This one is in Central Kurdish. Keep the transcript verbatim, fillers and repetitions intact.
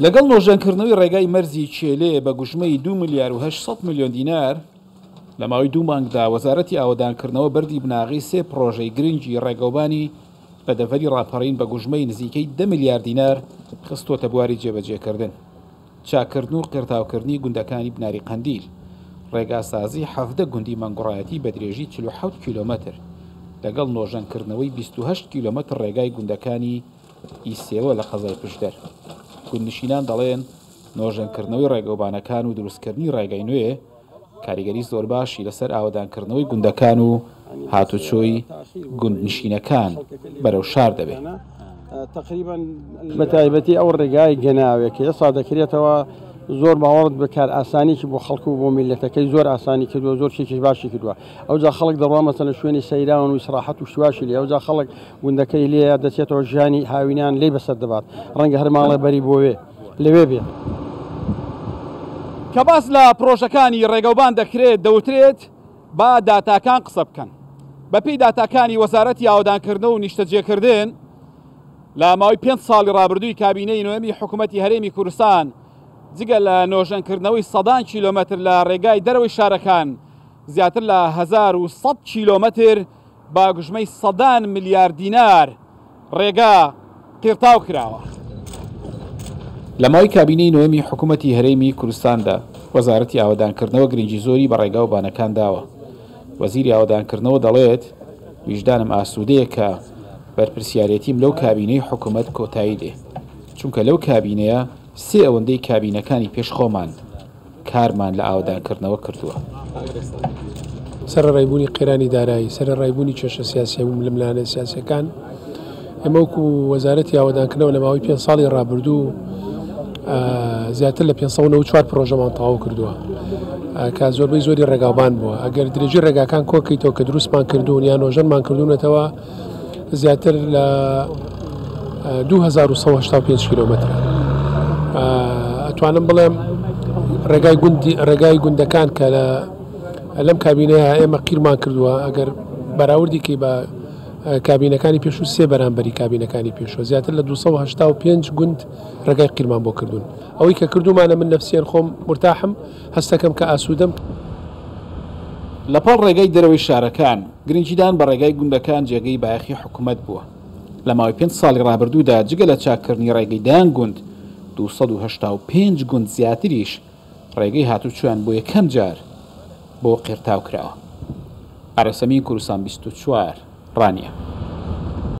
لەگەڵ نۆژەنکردنەوەی ڕێگای مەرزی کێلێ بە گوژمەی دوو ملیار و هەشت سەد ملیۆن دینار، لە ماوەی دوو مانگدا وەزارەتی ئاوەدانکردنەوە بەردی بناغەی سێ پرۆژەی گرنگی ڕێگەوبانی لە دەڤەری ڕاپەڕین بە گوژمەی نزیکەی دە ملیار دینار خستۆتە بواری جێبەجێکردن. چاکردن و قیرتاوکردنی گوندەکانی بناری قەندیل، ڕێگاسازی حەڤدە گوندی مەنگوڕایەتی بە درێژی چل و حەوت کیلۆمەتر، لەگەڵ نۆژەنکردنەوەی بیست و هەشت کیلۆمەتر ڕێگای گوندەکانی ئیسێوە لە قەزای پشدەر. گوندنشینان دەڵێن نۆژەنکردنەوەی ڕێگەوبانەکان و دروستکردنی ڕێگای نوێ کاریگەری زۆر باشی لەسەر ئاوەدانکردنەوەی گوندەکان و هاتوچۆی گوندنشینەکان بەرەو شار دەبێت. بە تایبەتی ئەو ڕێگای گەناوێک کە ئێستا دەکرێتەوە زۆر باوەڕت بکار ئاسانیکی بۆ خەڵک و بۆ میلەتەکەی زۆر ئاسانی کردووە، زۆر شتێکی باشی کردووە. ئەوجا خەڵک دەڕوا مەسەلەن شوێنی سەیران و ئیسراحەت و شتواشی لێ، ئەوجا خەڵک گوندەکەی لێیە دەچێتەوە ژیانی هاوینان لێی بەسەر دەبات، ڕەنگە هەر ماڵێ بەری بۆوێ لەوێ بێ. کە باس لە پرۆژەکانی ڕێگەوبان دەکرێت دەوترێت با داتاکان قسە بکەن. بەپێی داتاکانی وەزارەتی ئاوەدانکردنەوە و نیشتەجێکردن لە ماوەی پێنج ساڵی ڕابردووی کابینەی نۆیەمی حکوومەتی هەرێمی کوردستان جگە لە نۆژەنکردنەوەی سەدان کیلۆمەتر لە ڕێگای دەرەوەی شارەکان، زیاتر لە هەزار و سەد کیلۆمەتر با گوژمەی سەدان ملیار دینار ڕێگا قیرتاو کراوە. لە ماوەی کابینەی نۆیەمی حکوومەتی هەرێمی کوردستاندا وەزارەتی ئاوەدانکردنەوە گرنگی زۆری بە ڕێگا و بانەکان داوە. وەزیری ئاوەدانکردنەوە دەڵێت ویژدانم ئاسوودەیە کە بەرپرسیارێتیم لەو کابینەی حکوومەت کۆتایی دێ، چونکە لەو کابینەیە سێ ئەوەندەی کابینەکانی پێش خۆمان کارمان لە ئاوەدانکردنەوە کردووە. سەرەڕایبوونی قەیرانی دارایی، سەرەڕایبوونی کێشە سیاسی و ململانێ سیاسیەکان، ئێمە وەکو وەزارەتی ئاوەدانکردنەوە لە ماوەی پێنج ساڵی ڕابردوو زیاتر لە پێنج سەد و نەوەد و چوار پرۆژەمان تەواو کردووە کە زۆربەی زۆری ڕێگاوبان بووە. ئەگەر درێژی ڕێگاکان کۆکەیتەوە کە دروستمان کردوون یان نۆژەنمان کردوونەتەوە زیاتر لە دوو هەزار و سەد و هەشتا و پێنج کیلۆمەترە. ئەتوانم بڵێم ڕێگای گوندی، ڕێگای گوندەکان کە لەم کابینەیە ئێمە قیرمان کردووە، ئەگەر بەراوردێکی بە کابینەکانی پێشوو سێ بەرامبەری کابینەکانی پێشوو زیاتر لە دوو سەد و هەشتا و پێنج گوند ڕێگای قیرمان بۆ کردوون. ئەوەی کە کردومانە من نەفسیان خۆم مرتاحم، هەستەکەم کە ئاسوودەم. لەپاڵ ڕێگای دەرەوەی شارەکان گرنگیدان بە ڕێگای گوندەکان جێگەی بایەخی حکوومەت بووە. لە ماوەی پێنج ساڵی ڕابردوودا جگە لە چاککردنی ڕێگەی دەیان گوند، دوو سەد و هەشتا و پێنج گوند زیاتریش ڕێگەی هاتوچۆیان بۆ یەکەم جار بۆ قیرتاو کراوە. ئارەسەمین، کوردستان بیست و چوار، ڕانیە.